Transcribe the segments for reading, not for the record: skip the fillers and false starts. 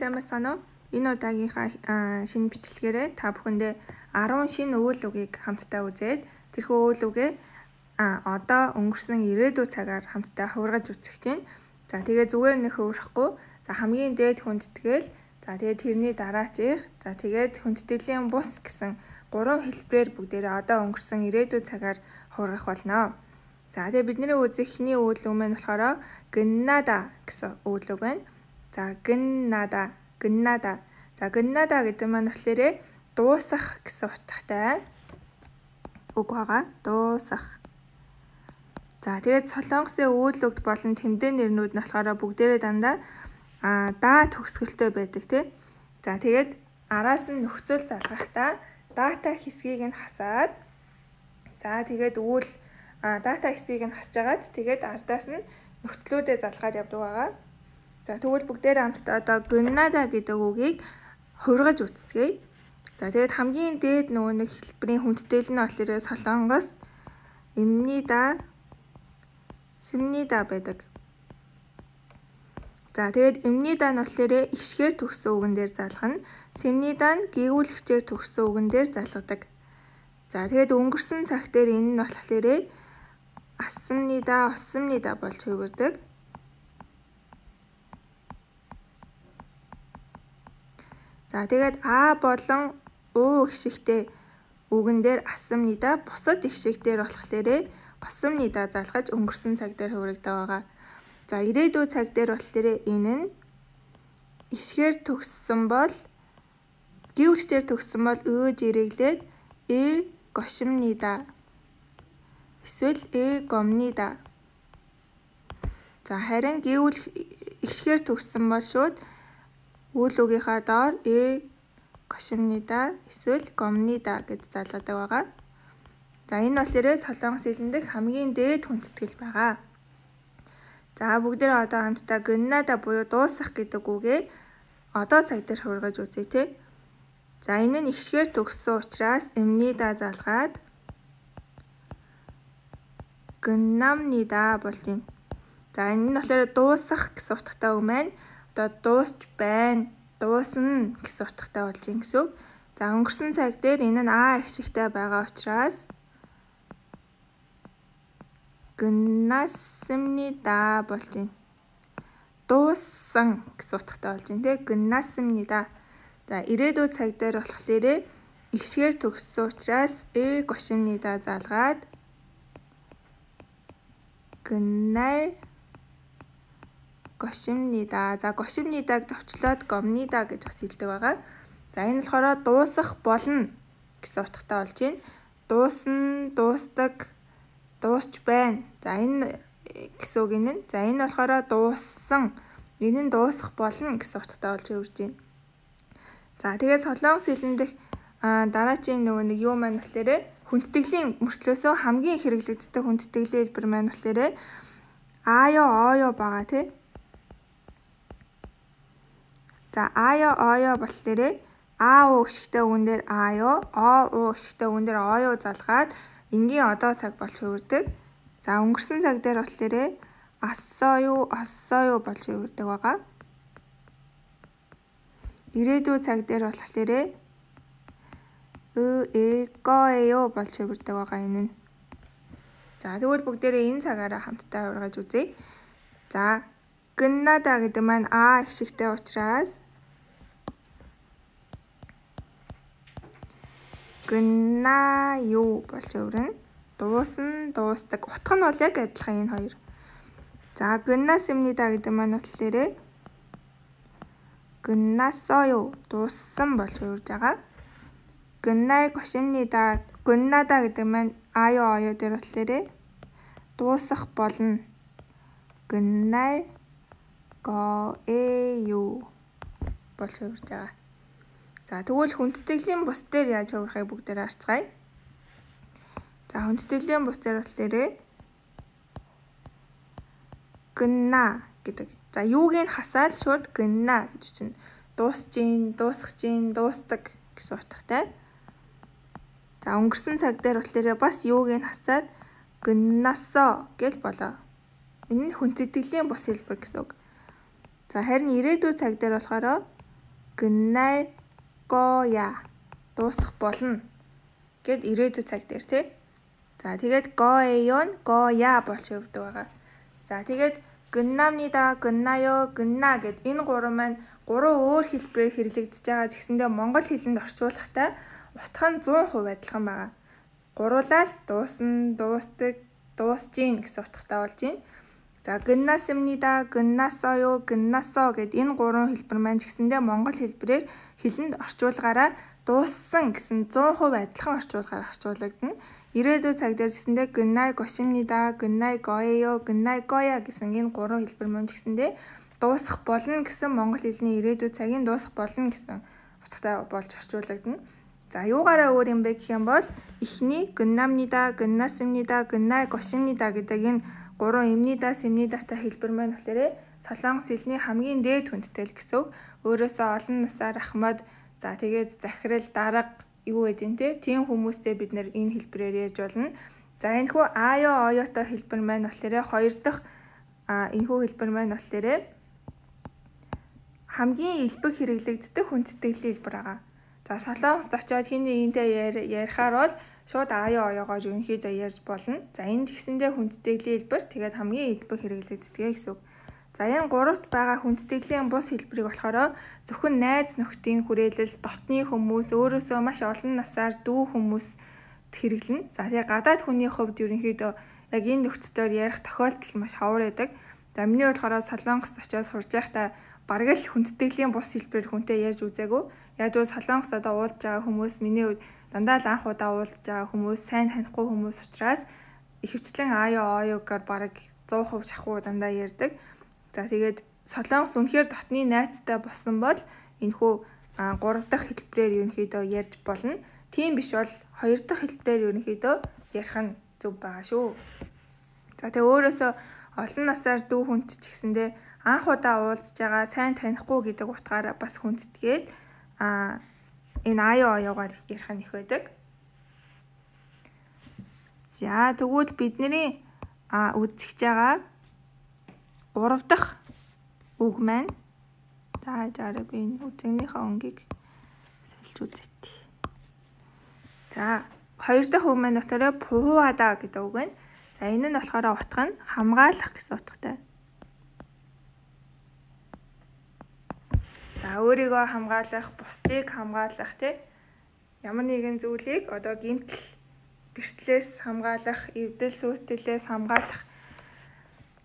сайн байцгаана уу? Энэ удаагийнхаа шинэ бичлэгээрээ та бүхэндээ 10 шинэ үйл үгийг хамтдаа үзээд тэрхүү үйл үгээ одоо өнгөрсөн ирээдүйн цагаар хамтдаа хувиргаж үзэх чинь. За тэгээ зүгээр нэг хувирахгүй. За хамгийн дээд хүндтгэл. За тэгээ тэрний дараачийнх. За тэгээд хүндэтгэлийн бус гэсэн 3 хэлбэрээр бүгдээрээ одоо өнгөрсөн ирээдүйн цагаар хувиргах болно. За тэгээ бидний үзэх эхний үйл үг маань болохоор гэннада гэсэн үйл үг байна. За гэннада. За гэннада гэдэг маань болохоор дуусах гэсэн утгатай үг байгаа. Дуусах. За тэгээд Солонгосын үйл үг болон тэмдэг нэрнүүд нь болохоор бүгдээрээ дандаа даа төгсгөлтэй байдаг тий. За тэгээд араас нь нөхцөл залгахдаа дата хэсгийг нь хасаад за тэгээд үйл дата хэсгийг нь хасж агаад тэгээд ардаас нь нөхцлүүдэд залгаад явдаг байгаа. За тэгвэл бүгдээрээ хамтдаа одоо гэннада гэдэг үгийг хувиргаж үзцгээе. За тэгээд хамгийн дээд нөгөө нэг хэлбэрийн хүндэтгэл нь болохоор Солонгост имнида симнида байдаг. За тэгээд имнида нь болохоор ихшгээр төгссөн үгэн дээр залгана. Симнида нь гэгүүлэгчээр төгссөн үгэн дээр залгадаг. За тэгээд өнгөрсөн цаг дээр энэ нь болохоор асмнида, осмнида болж хувирдаг. За тэгээд а болон у гişгтэй үгэн дээр асмнида, бусад гişгтэр болохоор осмнида залгаж өнгөрсөн цаг дээр хувирагддаг байгаа. За ирээдүйн цаг дээр болохоор энэ нь гişгээр төгссөн бол гэгүүлэгчээр төгссөн бол өөж ирэглээд гошимнида эсвэл гомнида. За харин гişгээр төгссөн бол шууд үйл үгийнхаа доор гошимнида эсвэл гомнида гэж залгадаг байгаа. За энэ болохоор Солонгос хэлэн дэх хамгийн дээд хүндэтгэл байгаа. За бүгдээ одоо хамтдаа гэннада буюу дуусах гэдэг үгээ одоо цаг дээр хувиргаж үзье тий. За энэ нь ихшгээр төгссөн учраас имнида залгаад гэннамнида болтын. За энэ нь болохоор дуусах гэсэн утгатай үг маань одоо дуусч байна, дуусна гэсэн утгатай болж юм гэсэн үг. За өнгөрсөн цаг дээр энэ нь а гişгтэй байгаа учраас гэннасмнида болтын. Дууссан гэсэн утгатай болж байна тий. Гэннасмнида. За ирээдүйн цаг дээр болохоор ихшгээр төгссөн учраас гошимнида залгаад гэннай гошимнида. За гошимнидаг товчлоод гомнида гэж бас хэлдэг байгаа. За энэ болохоор дуусах болно гэсэн утгатай болж байна. Дуусна, дуустдаг, дуусч байна. За энэ гэсэн үг энэ. За энэ болохоор дууссан. Энэ нь дуусах болно гэсэн утгатай болж хувирж байна. За тэгээд Солонгос хэлэн дэх дараачийн нөгөө нэг юу маань болохоор хүндэтгэлийн мөртлөөсөө хамгийн хэрэглэгддэг хүндэтгэлийн хэлбэр маань болохоор аё байгаа тий. За аё болохоор а у гişгтэй үгэн дээр аё, о у гişгтэй үгэн дээр оё залгаад энгийн одоо цаг болж хувирдаг. За өнгөрсөн цаг дээр болохоор оссоё болж хувирдаг байгаа. Ирээдүйн цаг дээр болохоор гоёо болж хувирдаг байгаа энэ нь. За тэгвэл бүгдээрээ энэ цагаараа хамтдаа хувиргаж үзье. За гэннада гэдэг маань а гişгтэй учраас гэннаё болж хувирна. Дуусна, дуустдаг. Утга нь бол яг адилхан энэ хоёр. За гэннасмнида гэдэг маань болохоор гэннасоё дууссан болж хувирж байгаа. гэннай гошимнида гэннада гэдэг маань аё дээр болохоор дуусах болно. гэннай гоэё болж хувирж байгаа. За тэгвэл хүндэтгэлийн бус дээр яаж хувирахыг бүгдээр харцгаая. За хүндэтгэлийн бус дээр болохоор гэнна гэдэг. За юуг нь хасаад шууд гэнна гэж чинь дуусж гин, дуусах чинь, дуустдаг гэсэн утгатай. За өнгөрсөн цаг дээр болохоор бас юуг нь хасаад гэннасо гэж болоо. Энэ нь хүндэтгэлийн бус хэлбэр гэсэн үг. За харин ирээдүйн цаг дээр болохоор 끝날 거야. дуусах болно гэд ирээдүйн цаг дээр тий. За тэгээд 거예요는 거야 болж өгдөг байгаа. За тэгээд 끝납니다, 끝나요, 끝나 гэд энэ гурван маань гурван өөр хэлбэрээр хэрэглэгдэж байгаа гэсэндээ монгол хэлэнд орчуулахдаа утга нь 100% адилхан байгаа. Гуруулаад дуусна, дуустдаг, дуусжийн гэсэн утгатай болж байна. За 끝났습니다, 끝났어요, 끝났어 гэд энэ гурван хэлбэр маань гэсэндээ монгол хэлбэрээр хэлэнд орчуулгаараа дууссан гэсэн 100% адилхан орчуулгаар орчуулагдана. ирээдүйн цаг дээр гэсэндээ 끝날 것입니다, 끝날 거예요, 끝날 거야 гэсэн энэ гурван хэлбэр маань гэсэндээ дуусах болно гэсэн монгол хэлний ирээдүйн цагийн дуусах болно гэсэн утгатай болж орчуулагдана. За юугаараа өөр юм бэ гэх юм бол эхний 끝납니다, 끝났습니다, 끝날 것입니다 гэдэг энэ гурван имнида, симнидатай хэлбэр маань болохоор солонгос хэлний хамгийн дээд хүндтэй л гэсэн үг. Өөрөөсөө олон насаар ахмад за тэгээд захирал дарга юу гэдэг те тийм хүмүүстэй бид нэр энэ хэлбэрээр ярьж болно. За энэ хүү аё оётой хэлбэр маань болохоор хоёр дахь энэ хүү хэлбэр маань болохоор хамгийн илбэг хэрэглэгддэг хүндтгэлийн хэлбэр байгаа. За солонгост очиод хин нэгнтэй ярихаар бол шууд аё оёогоор ерөнхийдөө ярьж болно. За энэ гэсэндээ хүндтгэлийн хэлбэр тэгээд хамгийн илбэг хэрэглэгддэг гэсэн үг. За энэ гуравт байгаа хүндтгэлийн бус хэлбэрийг болохоор зөвхөн найз нөхдийн хүрээлэл, дотны хүмүүс, өөрөөсөө маш олон насаар дүү хүмүүст хэрэглэнэ. За тэгээд гадаад хүний хувьд ерөнхийдөө яг энэ нөхцөлөөр ярих тохиолдол маш ховор байдаг. За миний болохоор солонгост очиод сурж байхдаа бараг л хүндтгэлийн бус хэлбэрээр хүнтэй ярьж үзээгүй. Яг л солонгост одоо уулзж байгаа хүмүүс миний хувьд дандаа л анх удаа уулзж байгаа хүмүүс, сайн танихгүй хүмүүс учраас ихэвчлэн аё оёгаар бараг 100% шахуу дандаа ярьдаг. За тэгээд солонгос үнэхээр дотны найзтай болсон бол энэхүү 3 дахь хэлбэрээр ерөнхийдөө ярьж болно. Тийм биш бол 2 дахь хэлбэрээр ерөнхийдөө ярих нь зөв байгаа шүү. За тэгээд өөрөөсөө олон насаар дүү хүнд ч гэсэндээ анх удаа уулзж байгаа сайн танихгүй гэдэг утгаараа бас хүндэтгээд энэ аё оёогоор ярих нь их байдаг. За тэгвэл бидний үзэж байгаа 3 дахь үг маань за жаараа би энэ үзэгнийхээ өнгийг сольж үзье. За 2 дахь үг маань болохоор пуухада гэдэг үг байна. За энэ нь болохоор утга нь хамгаалах гэсэн утгатай. За өөрийгөө хамгаалах, бусдыг хамгаалах тий ямар нэгэн зүйлийг одоо гэмтэл гэртлээс хамгаалах, эвдэл сүйтлээс хамгаалах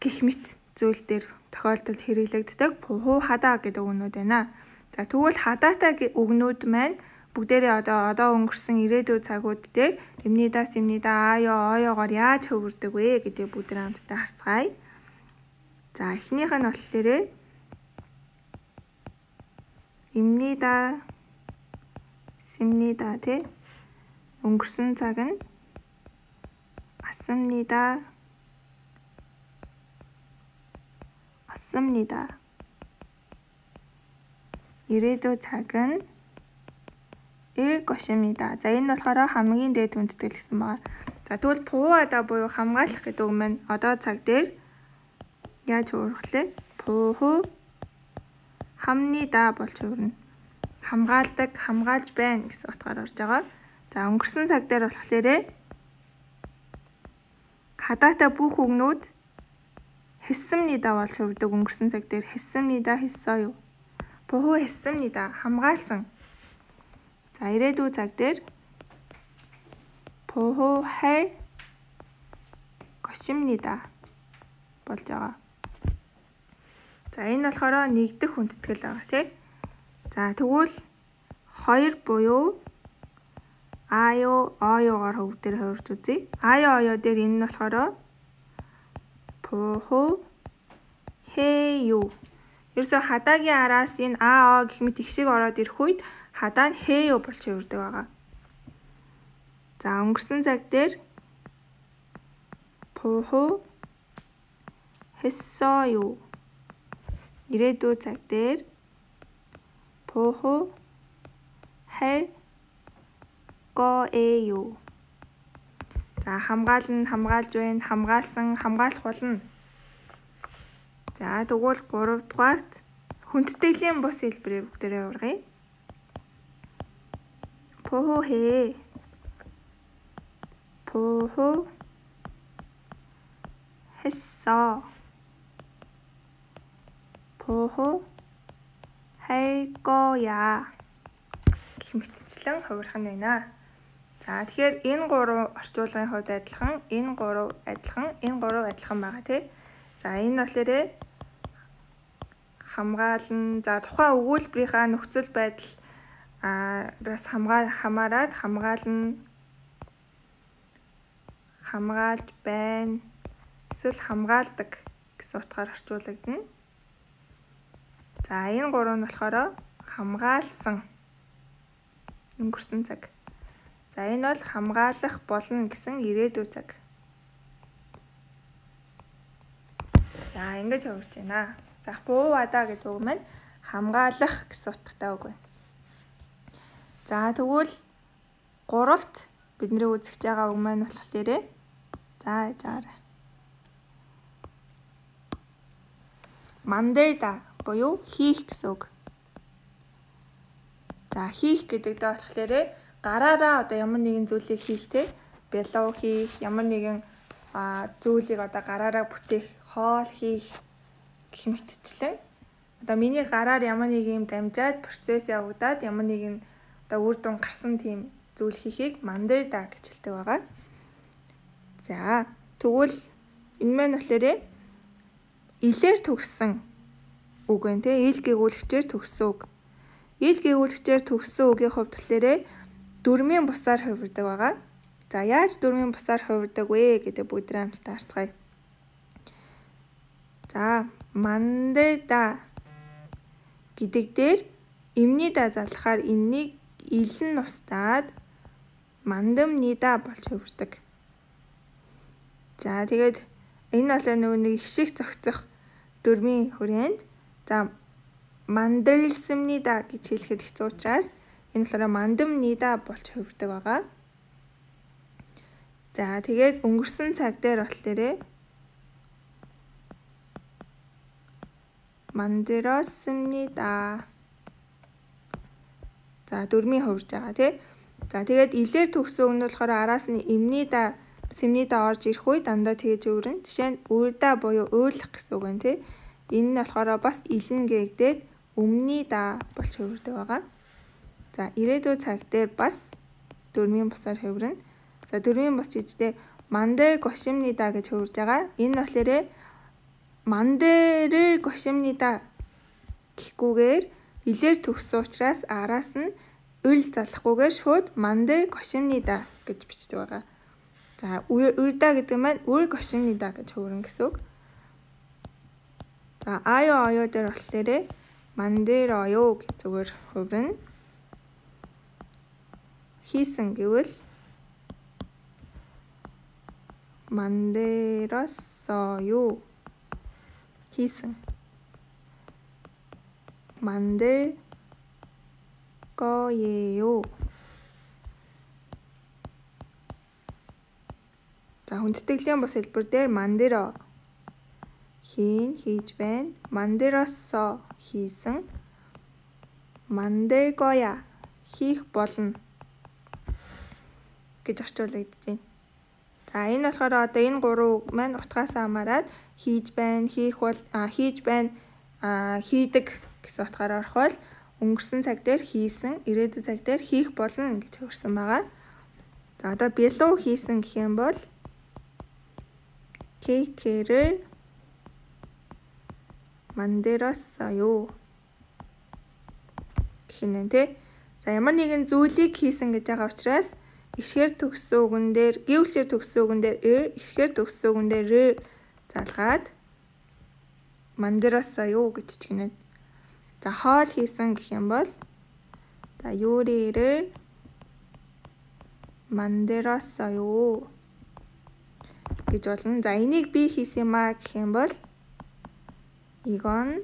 гэх мэт зүйл дээр тохиолдолд хэрэглэгддэг пуухада гэдэг үгнүүд байна. За тэгвэл хадаатай үгнүүд маань бүгдээрээ одоо өнгөрсөн ирээдүйн цагууд дээр имнида, симнида, аё оёогоор яаж хөвөрдөг вэ гэдэг бүгдээ хамтдаа харцгаая. За эхнийх нь болохоор имнида, симнида тий өнгөрсөн цаг нь асамнида, асамнида ирээдүйн цаг нь 일 것입니다. За энэ болохоор хамгийн дээд хүндтэй гэсэн байгаа. За тэгвэл пуухада буюу хамгаалах гэдэг үг маань одоо цаг дээр яаж хуурхлаа? пууху хамнида болж хувирна. Хамгаалдаг, хамгаалж байна гэсэн утгаар орж байгаа. За өнгөрсөн цаг дээр болохоор хадаатай бүх үгнүүд 했습니다 болж хувирдаг. өнгөрсөн цаг дээр 했습니다, 했어요. пууху 했습니다 хамгаалсан. За ирээдүйн цаг дээр пуух할 것입니다 болж байгаа. За энэ болохоор нэгдэх хүндэтгэл байгаа тий. За тэгвэл 2 буюу аё оёогоор хөвг дээр хувирч үзье. аё оё дээр энэ нь болохоор пууху 해요. ерөөсө хадаагийн араас энэ аа гэх мэт их шиг ороод ирэх үед хадаа нь 해요 болж хувирдаг байгаа. За өнгөрсөн цаг дээр пууху 했어요. ирээдүйн цаг дээр пууху 할 거예요. За хамгаална, хамгаалж байна, хамгаалсан, хамгаалах болно. За тэгвэл 3 дугаарт хүндэтгэлийн бус хэлбэрээр бүгдээрээ ургая. 보호해. 보호했어. 보호할 거야. Гэх мэтчлэн хувирах нь байна. За тэгэхээр энэ 3 орчуулгын хувьд адилхан, энэ 3 адилхан, энэ 3 адилхан байгаа тий. За энэ болохоор хамгаална. За тухайн өгүүлбэрийнхаа нөхцөл байдал аас хамаарад хамгаална, хамгаалж байна, эсвэл хамгаалдаг гэсэн утгаар орчуулагдана. За энэ 3 нь болохоор хамгаалсан, өнгөрсөн цаг. За энэ бол хамгаалах болно гэсэн ирээдүйн цаг. За ингэж хувирч байна. За буувада гэдэг үг маань хамгаалах гэсэн утгатай үг байна. За тэгвэл 3-т бидний үзэж байгаа үг маань болохоор заарай. 만들다 буюу хийх гэсэн үг. За хийх гэдэг дэ болохоор гараараа одоо ямар нэгэн зүйлийг хийх те, бялуу хийх, ямар нэгэн зүйлийг одоо гараараа бүтээх, хоол хийх гэх мэтчлэн одоо миний гараар ямар нэг юм дамжаад процесс явагдаад ямар нэгэн одоо үр дүн гарсан тийм зүйл хийхийг 만들다 гэж хэлдэг байгаа. За тэгвэл энэ маань болохоор илээр төгссөн үг байна те, ил гээгүүлэгчээр төгссөн үг. Ил гээгүүлэгчээр төгссөн үгийн хувьд болохоор дөрмийн бусаар хувирдаг байгаа. За яаж дөрмийн бусаар хувирдаг вэ гэдэг бүгдээ хамтдаа харцгаая. За 만들다 гэдэг дээр имнида залхаар энэнийг илэн устдаад 만듭니다 болж хувирдаг. За тэгээд энэ бол нэг хишиг зохицох дөрмийн хүрээнд за 만들습니다 гэж хэлэхэд хэцүү учраас энэ болохоор 만듭니다 болж хувирдаг байгаа. За тэгээд өнгөрсөн цаг дээр болохоор 만들었습니다. За дөрмийн хувирж байгаа тий. За тэгээд илээр төгссөн үг нь болохоор араас нь имнида, сэмнида орж ирэх үе дандаа тэгэж өөрөн. Жишээ нь үрда буюу уйлах гэсэн үг байна тий. Энэ нь болохоор бас илэн гээгдээд өмнөда болж хувирдаг байгаа. За ирээдүйн цаг дээр бас дөрмийн бусаар хувирна. За дөрмийн бус гэжтэй 만들 것입니다 гэж хувирж байгаа. Энэ болохоор 만들을 것입니다 гэхгүйгээр илээр төгссөн учраас араас нь 을 залахгүйгээр шууд 만들 것입니다 гэж бичдэг байгаа. За үрда гэдэг маань 을 것입니다 гэж хувирна гэсэн үг. За 아요 дээр болохоор 만들어요 гэж зүгээр хувирна. хийсэн гэвэл 만들었어요. хийсэн. 만들 거예요. За хүндэтгэлийн бус хэлбэр дээр 만들어 хийж байна. 만들었어 хийсэн. 만들 거야 хийх болно гэж орчуулагдаж байна. За энэ болохоор одоо энэ 3 үг маань утгаас хамаарат хийж байна, хийх бол хийж байна, хийдэг гэсэн утгаараа орох бол өнгөрсөн цаг дээр хийсэн, ирээдүйн цаг дээр хийх болно гэж хувирсан байгаа. За одоо бялуу хийсэн гэх юм бол 케이크를 만들었어요 гэх юм тий. За ямар нэгэн зүйлийг хийсэн гэж байгаа учраас ишгээр төгссөн үгэн дээр гэвлшээр төгссөн үгэн дээр ишгээр төгссөн үгэн дээр залгаад 만들었어요 гэж хэлнэ. За хоол хийсэн гэх юм бол за 요리를 만들었어요 гэж болно. За энийг би хийсэн юм аа гэх юм бол 이건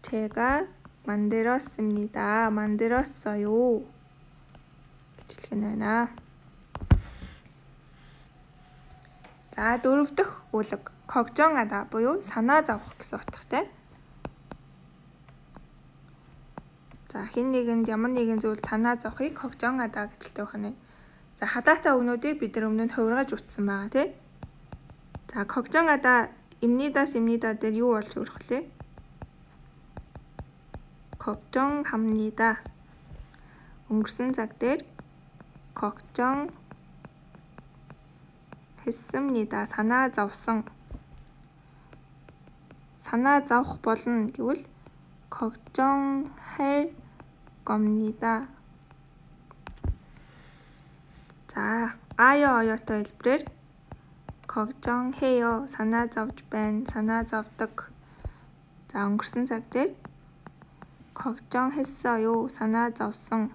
제가 만들었습니다. 만들었어요. гэж хэлэх нь байна. За дөрөв дэх үлэг 걱정하다 буюу санаа зовох гэсэн утгатай. За хэн нэгэнд ямар нэгэн зүйл санаа зовхыг когжонгада гэжэлтэй байна. За хадаатай өгнүүдийг бид нар өмнө нь хувиргаж утсан байгаа тий. За когжонгада имнида дээр юу болж хүрэх вэ? 걱정합니다. өнгөрсөн цаг дээр 걱정했습니다. санаа зовсон. санаа зовх болно гэвэл 걱정할 겁니다. 자, оётой хэлбэрээр 걱정해요. санаа зовж байна. санаа зовдог. За, өнгөрсөн цаг дээр 걱정했어요. санаа зовсон.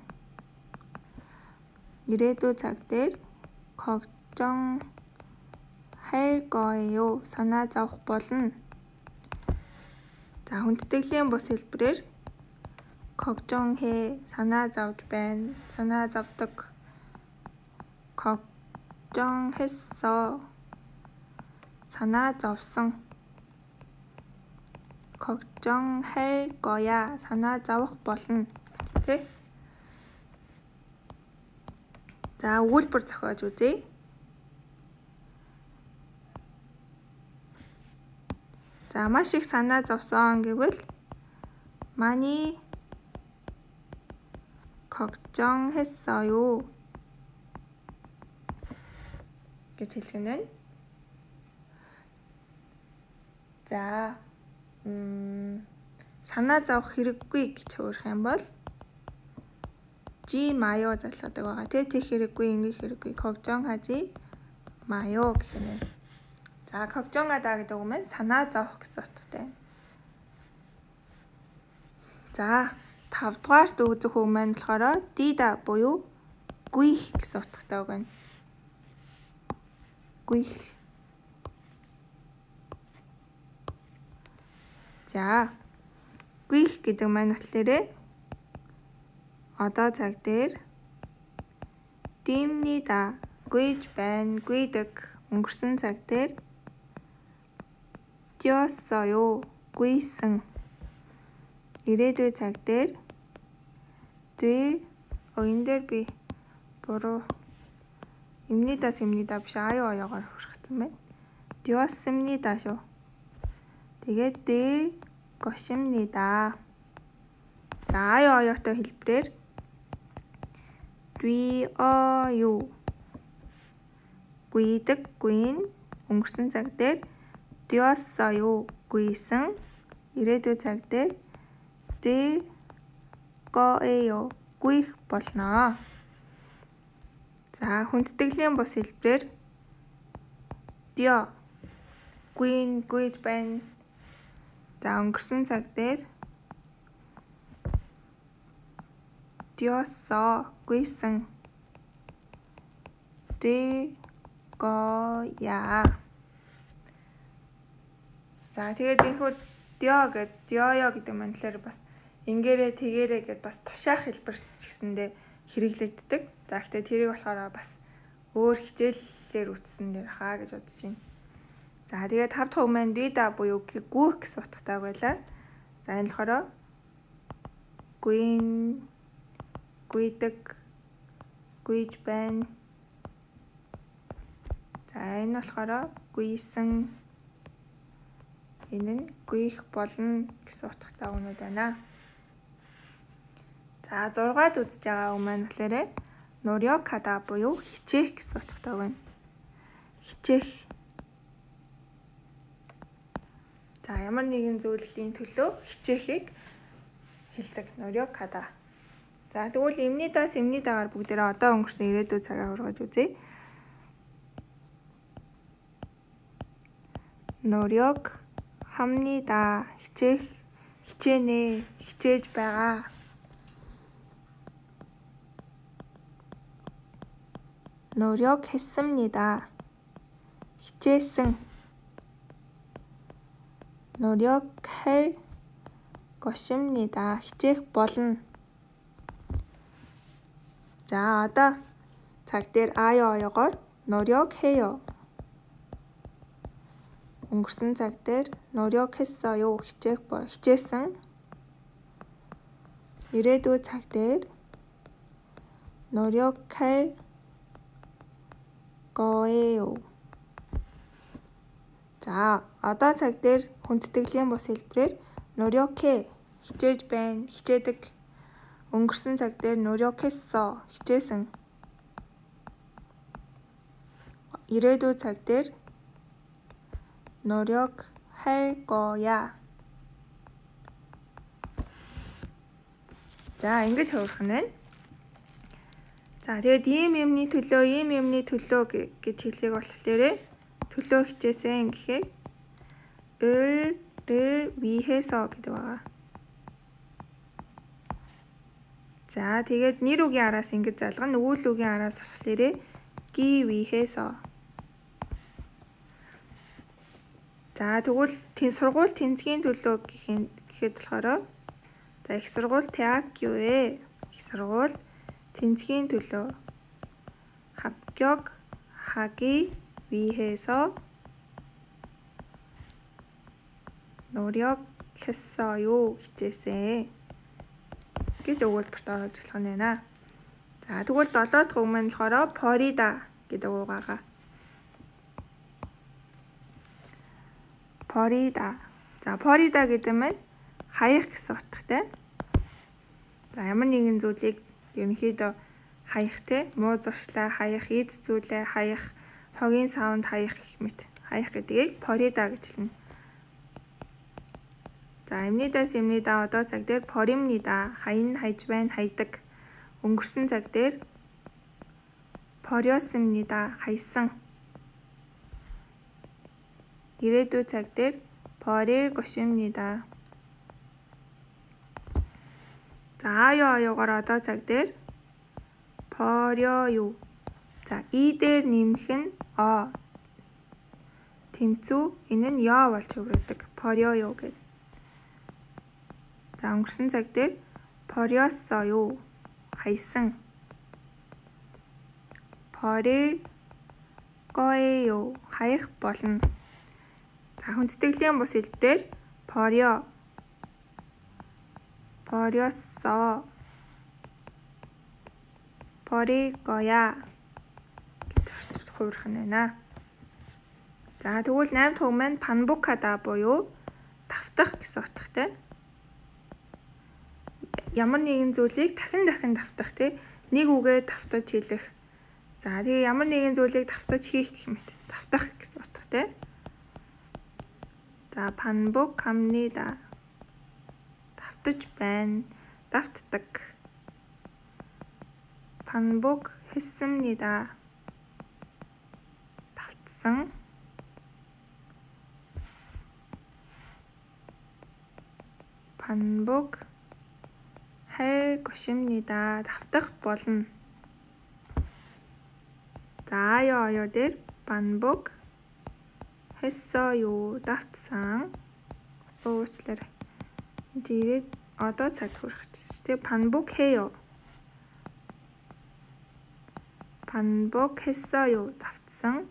ирээдүйн цаг дээр 걱정할 거예요. санаа зовх болно. За, хүндэтгэлийн бус хэлбэрээр 걱정해. санаа зовж байна. санаа зовдог. 걱정했어. санаа зовсон. 걱정할 거야. санаа зовох болно. Тэ? За, өгүүлбэр зохиож үзье. За, маш их санаа зовсон гэвэл 많이 걱정했어요 гэж хэлэх нь байна. За, санаа зовох хэрэггүй гэж өөрөх юм бол жи маё залгадаг байгаа. Тэг хэрэггүй, ингэх хэрэггүй. 걱정하지 마요 гэх юм байна. За, 걱정하다 гэдэг үг маань санаа зовох гэсэн утгатай байна. За, 5 дугаарт үзэх үг маань болохоор дида буюу гүйх гэсэн утгатай үг байна. гүйх. За, гүйх гэдэг маань болохоор одоо цаг дээр димнида гүйж байна, гүйдэг. өнгөрсөн цаг дээр 뛰었어요. гүйсэн. ирээдүйн цаг дээр энэ дээр би буруу имнида биш оёгоор хүргэсэн байна. 뛰었습니다 шүү. Тэгээд 것입니다. За, оётой хэлбэрээр 뛰어요. гүйдэг, гүйн. өнгөрсөн цаг дээр 뛰었어요. гүйсэн. ирээдүйн цаг дээр 뛸 거예요. гүйх болно. За, хүндэтгэлийн бус хэлбэрээр 뛰어. гүйн, гүйж байна. За, өнгөрсөн цаг дээр 뛰었어. гүйсэн. 뛸 거야. За, тэгээд энэхүү 뛰어요 гэдэг маань тэгэхээр бас ингээрээ тэгээрээ гэдээ бас тушаах хэлбэр ч гэсэндээ хэрэглэгддэг. За, гэхдээ тэрийг болохоор бас өөр хичээллээр үтсэн дээр хаа гэж бодож байна. За, тэгээд 5 дахь үг маань дида буюу гүйх гэсэн утгатай байлаа. За, энэ болохоор гүйн, гүйдэг, гүйж байна. За, энэ болохоор гүйсэн. Энэ нь гүйх болно гэсэн утгатай үгнүүд байна. За, 6-ад үзэж байгаа үг маань болохоор 노력하다 буюу хичээх гэсэн утгатай байна. хичээх. За, ямар нэгэн зүйлийн төлөө хичээхийг хэлдэг. 노력하다. За, тэгвэл имнидагаар бүгдээрээ одоо өнгөрсөн ирээдүйн цагаа ургаж үзье. 노력합니다. хичээнэ, хичээж байгаа. 노력했습니다. хичээсэн. 노력할 것입니다. хичээх болно. За, одоо цаг дээр оёгоор 노력해요. өнгөрсөн цаг дээр 노력했어요. хичээсэн. ирээдүйн цаг дээр 노력할 거예요. За, одоо цаг дээр хүндэтгэлийн бус хэлбэрээр 노력해 хичээж байна, хичээдэг. Өнгөрсөн цаг дээр 노력했어 хичээсэн. ирээдүйн цаг дээр 노력할 거야. За, ингэж хувирах нь байна. За, тэгээд ийм юмны төлөө гэж хэлээг болохоор төлөө хичээсэн гэхээр 을를 위해서 гэдэг байгаа. За, тэгээд нэр үгийн араас ингэж залгана. Өвөл үгийн араас болохоор 기 위해서. За, тэгвэл сургууль тэнцгийн төлөө гэхэд болохоор за, их сургууль 대학교에 их сургууль тэнцгийн төлөө 합격하기 위해서 노력했어요 хичээсэн гэж өгүүлбэрт оруулж болох нь байна. За, тэгвэл 7 дахь үг маань болохоор Florida гэдэг үг байгаа. Florida. За, Florida гэдэг нь хаях гэсэн утгатай. За, ямар нэгэн зүйлийг ерөнхийдөө хаях те, муу зуршлаа хаях, эд зүйлээ хаях, хогийн савнд хаях гэх мэт. Хаях гэдгийг Florida гэж хэлнэ. За, эмнийдаа одоо цаг дээр 버립니다. хаян хайж байна, хайдаг. өнгөрсөн цаг дээр 버렸습니다. хайсан. ирээдүйн цаг дээр 버릴 것입니다. За, аюугаар одоо цаг дээр 버려요. За, и дээр нэмэх нь о. тэмцүү энэ нь ё болж хувирдаг. 버려요 гэдэг. За, өнгөрсөн цаг дээр 버렸어요. хайсан. 버릴 거예요. хаях болно. За, хүндэтгэлийн бус хэлбэрээр 버렸어. 버릴 거야 гэж хувирах нь байна. За, тэгвэл 8 дахь үг маань 반복하다 буюу давтах гэсэн утгатай. Ямар нэгэн зүйлийг дахин давтах тий, нэг үгээ давтаж хэлэх. За, тэгээ ямар нэгэн зүйлийг давтаж хийх гэх мэт давтах гэсэн утгатай. За, 반복합니다. давтаж байна, давтдаг. 반복했습니다. давтсан. 반복할 것입니다. давтах болно. За, аюу дээр 반복했어요. давтсан. уучлаарай. Ирээд одоо цаг хүрэх гэсэн чинь 반복해요. 반복했어요. давтсан.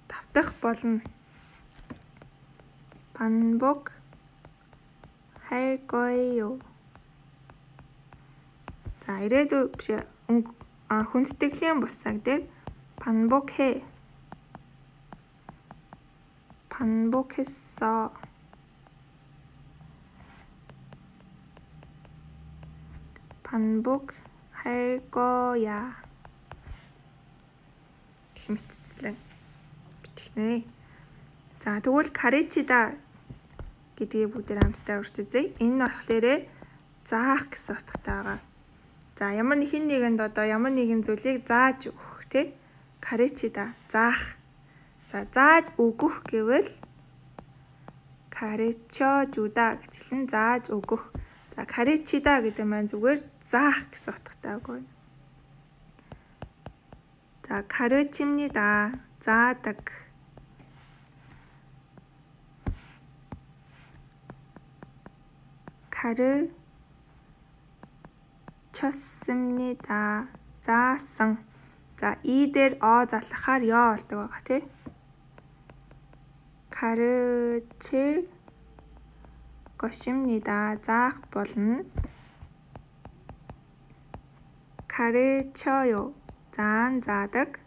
давтах болно. 반복할 거예요. За, ирээдүйн биш хүндэтгэлийн бус цаг дээр 반복해. 반복했어. 반복할 거야. гэх мэтчлэн бичгнэ. За, тэгвэл 가르치다 гэдгийг бүгдээр хамтдаа урьж үзье. Энэ нь болохоор заах гэсэн утгатай байгаа. За, ямар нэгэнд одоо ямар нэгэн зүйлийг зааж өгөх тий. 가르치다 заах. За, зааж өгөх гэвэл 가르쳐주다 гэж хэлнэ. зааж өгөх. За, 가르치다 гэдэг маань зүгээр заах гэсэн утгатай байгаа. За, 가르칩니다. заадаг. 가르쳤습니다. заасан. За, и дээр о залгахаар ё болдог байгаа тий. 가르칠 것입니다. заах болно. 가르쳐요. заадаг.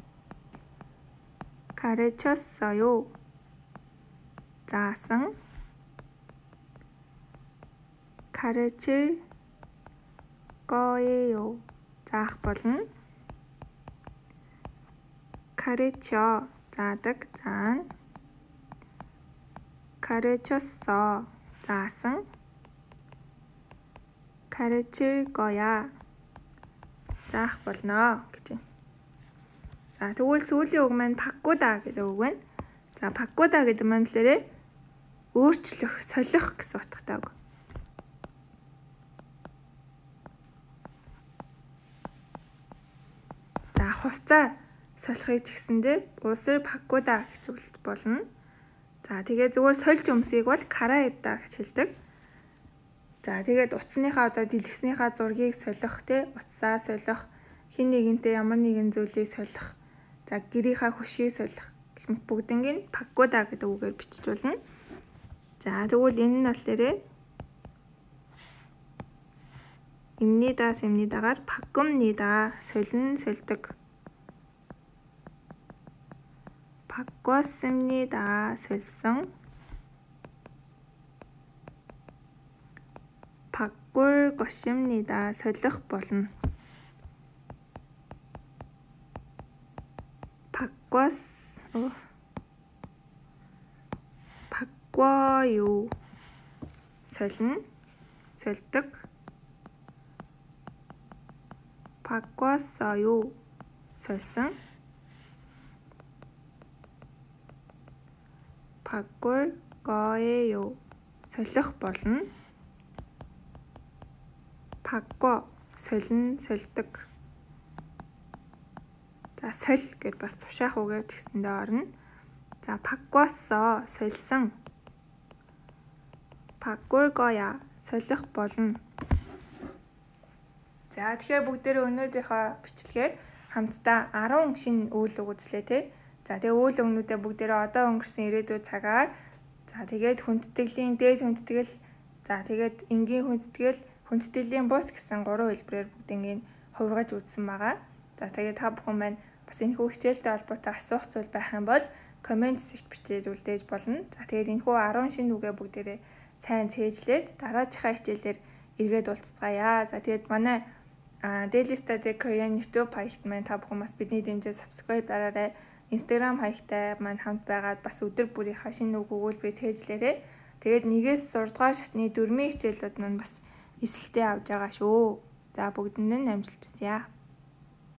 가르쳤어요. заасан. 가르칠 거예요. заах болно. 가르쳐 заадаг, заана. 가르쳤어 заасан. 가르칠 거야 заах болно гэж байна. За тэгвэл сүүлийн үг маань 바꾸다 гэдэг үг байна. За 바꾸다 гэдэг маань лээрээ өөрчлөх, солих гэсэн утгатай үг. За хувцас солихыг ч гэсэндээ уусар 바꾸다 гэж үгэлт болно. За тэгээ зүгээр сольж өмсгийг бол караевда гэж хэлдэг. За тэгээд утасныхаа одоо дэлгэснийхаа зургийг солих, утасаа солих, хин нэгэнтэй ямар нэгэн зүйлийг солих, за гэрийнхаа хөшгийг солих гэх мэт бүгднийг 바꾸다 гэдэг үгээр бичиж болно. За тэгвэл энэ нь болохоор имнидаас имнидагаар 바꿉니다. солин, сольдог. 바꿨습니다. 솔성. 바꿀 것입니다. солих болно. 바꿔요. солин, сольдог. 바꿨어요. 솔성. 바꿀 거예요. солих болно. 바꿔, солин, сольдог. За соль гэд бас тушаах үгээр ч гэсэндээ орно. За 바꿨어, солисон. 바꿀 거야, солих болно. За тэгэхээр бүгдээрээ өнөөдрийнхөө бичлэгээр хамтдаа 10 шинэ үйл үг үзлээ те. За тэгээ үйл өгнүүдээ бүгдээрээ одоо өнгөрсөн ирээдүйн цагаар за тэгээд хүндэтгэлийн дээд хүндэтгэл, за тэгээд энгийн хүндэтгэл, хүндэтгэлийн бус гэсэн 3 хэлбэрээр бүгднийг хувиргаж үзсэн байгаа. За тэгээд та бүхэн маань бас энэхүү хичээлтэй холбоотой асуух зүйл байх юм бол комент хэсэгт бичээд үлдээж болно. За тэгээд энэхүү 10 шинэ үгээ бүгдээрээ сайн цээжлээд дараачихаа хичээлээр эргээд уулзцаая. За тэгээд манай Daily Study Korean YouTube хаягт маань та бүхэн бас бидний дэмжээ subscribe дараарай. Instagram хаягтай маань хамт байгаад бас өдөр бүрийнхаа шинэ үг өгүүлбэрийг цээжлээрэй. Тэгээд 1-ээс 6 дугаар шатны дөрмийн хичээлүүд маань бас эсэлтээ авч байгаа шүү. За бүгдэнд нь амжилт хүсье.